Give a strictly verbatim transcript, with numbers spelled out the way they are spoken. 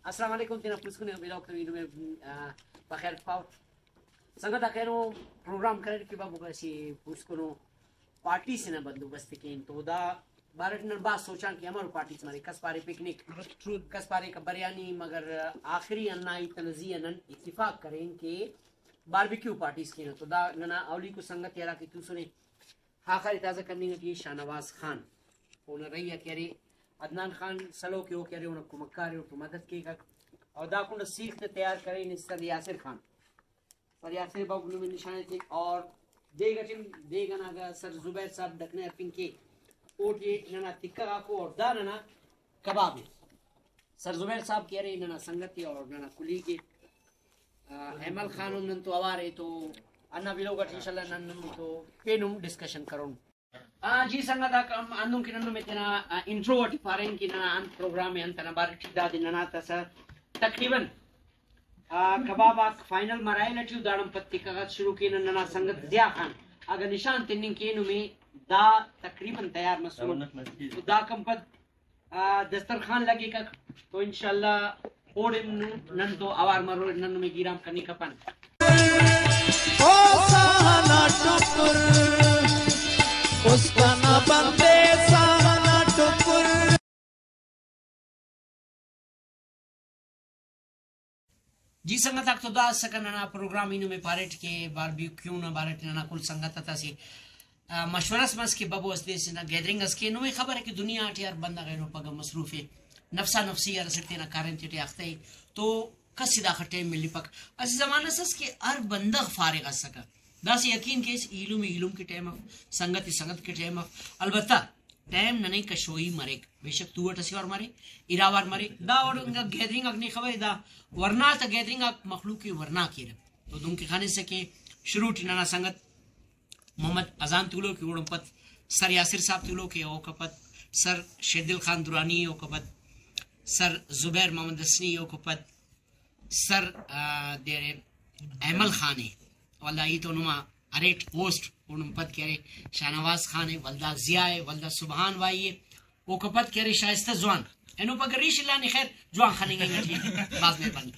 السلام علیکم، تینا پوسکن ء بلاک تو اینو میں، آ، بخیر پاو۔ سنگت آک اینو پروگرام کریر کہ بابو اسہ پوسکنو پارٹی سے نا بندوبست کین، تو دا بارٹ نن بھاز سوچان کہ امر پارٹیز مرے، کس پارے پکنک، کس پارے بریانی، مگر آخری ہندا ہیت ئنا زی آ نن اتفاق کرین کہ باربیکیو پارٹیز کینہ۔ تو دا ننا اولیکو سنگت ء ہرا کہ توسنے، خاخر ء تازہ کننگ ٹی شاہنواز خان، اونا رہی آ کہ ارے عدنان خان سلوک ء، او کہ ارے اونا کمکار ء، اوڑتون مدد کیک، اور دا کنڈ سیخ تے تیار کرین سر یاسر خان۔ سر یاسر بابو نمے نشان ایتک، اور دیگ اٹی، دیگ انا اگہ سر زبیر صاحب ڈکھنے ہرفنگ کے، اوٹی ننا تکہ غاکو اور دا ننا کباب ء۔ سر زبیر صاحب کہ ارے ننا سنگت ء اور ننا کلیگ ء، آ، ایمل خان ہم نن تو اوار ء، تو ہندا ویلوگ اٹ انشاءاللہ نن نم تو پین ہم ڈسکشن کرون۔ آ، جی سنگت آک، ہم ہندن کہ نن نمے تینا، آ، انٹرو اٹی پارین کہ ننا انت پروگرام ء، انت انا بارے ٹی دادے ننا تسہ تقریباً، آ، کباب آک فائنل مراحل اٹی ء، داڑان پد تکہ غاک شروع کینہ۔ ننا سنگت ضیاء خان اگہ نشان تننگ کینہ نمے دا تقریباً تیار مسنے۔ تو داکان پد آ، دسترخوان لگیکک، تو انشاءاللہ اوڑے نو-، نن تو اوار مرور، نن نمے گیرام کننگ کپن۔ او ساہ نا ٹکر، اس کا نہ بندے ساہ نا ٹکر۔ جی سنگت آک، تو دا اسکہ ننا پروگرام، ای نمے پاریٹ کہ باربیکیو نا بارٹ ننا کل سنگت آتا اسہ، آ، مشورہ اس مس کہ ببو اسہ دے اسہ نا گیدرنگ اس کے۔ نمے خبر ء کہ دنیا ٹی ہر بندغ اینو پگہ مصروف ء، نفسا نفسی ہر اسٹ تینا کاریم تیٹی اختہ ء، تو کس ء داخہ ٹائم ملپک۔ اسہ زمانہ اس ئس کہ ہر بندغ فارغ اسکہ، داسہ یقین کیس ایلم ایلم کہ ٹائم اف، سنگت سنگت کہ ٹائم اف۔ البتہ ٹائم ننے کشوئی مریک، بے شک تُو اٹ اسہ وار مرے، ارا وار مرے، دا وڑ انگا گیدرنگ آک نے خبرے، دا ورنا تا گیدرنگ آک مخلوق ء ورنا کیرہ۔ تو دنکہ خنسہ کہ شروع ٹی ننا سنگت محمد اذان تولوک ء، اوڑان پد سر یاسر صاحب تولوک ء، اوکا پد سر شیردل خان درانی ء، اوکا پد سر زبیر محمد حسنی ء، اوکا پد سر، آ، دے ارے ایمل خان ء، ولدا ای تو نما اریٹ ہوسٹ، اوڑان پد کہ ارے شاہنواز خان ء، ولدا ضیاء ء، ولدا سبحان بھائی ء، اوکا پد کہ ارے شائستہ جوان۔ اینو پگہ ریش الا نے، خیر، جوان خننگ انگ ٹی۔ بھاز مہربانی۔